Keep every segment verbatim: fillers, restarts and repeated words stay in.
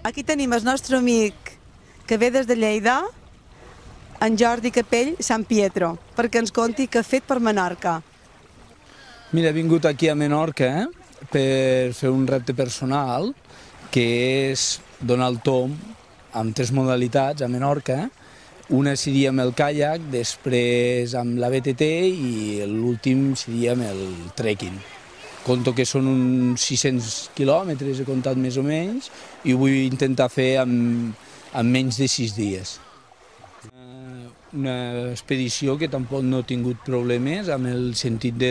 Aquí tenim el nostre amic que ve des de Lleida, en Jordi Capell Sant Pietro, perquè ens conti què ha fet per Menorca. Mira, he vingut aquí a Menorca eh, per fer un repte personal, que és donar el tomb amb tres modalitats a Menorca. Una seria amb el caiac, després amb la B T T i l'últim seria amb el trekking. Conto que són uns sis-cents quilòmetres, he comptat més o menys, i ho vull intentar fer en, en menys de sis dies. Una expedició que tampoc no ha tingut problemes amb el sentit de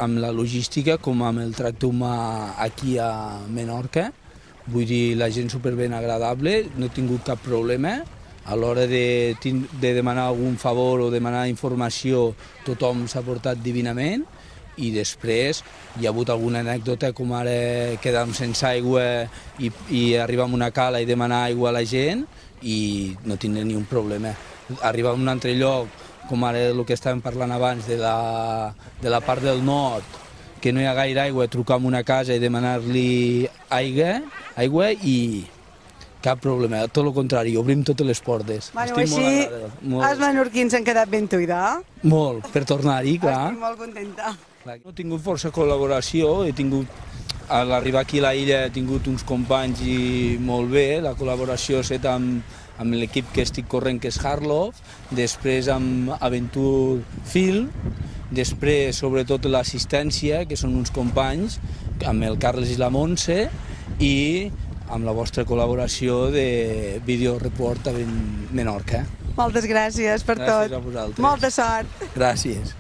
amb la logística com amb el tracte humà aquí a Menorca. Vull dir, la gent superben agradable, no he tingut cap problema. A l'hora de, de demanar algun favor o demanar informació, tothom s'ha portat divinament. I després hi ha hagut alguna anècdota, com ara quedar sense aigua i, i arribar a una cala i demanar aigua a la gent i no tindre ni un problema. Arribar a un altre lloc, com ara el que estàvem parlant abans, de la, de la part del nord, que no hi ha gaire aigua, trucar a una casa i demanar-li aigua, aigua i cap problema, tot el contrari, obrim totes les portes. Bueno, Estic així molt els menorquins han quedat ben tuida. Molt, per tornar-hi, clar. Estic molt contenta. No he tingut força col·laboració, he tingut, a l'arribar aquí a la illa he tingut uns companys i molt bé, la col·laboració és amb, amb l'equip que estic corrent, que és Harlof, després amb Aventure Film, després sobretot l'assistència, que són uns companys, amb el Carles i la Montse, i amb la vostra col·laboració de Video Report a Menorca. Moltes gràcies per tot. Gràcies a vosaltres. Molta sort. Gràcies.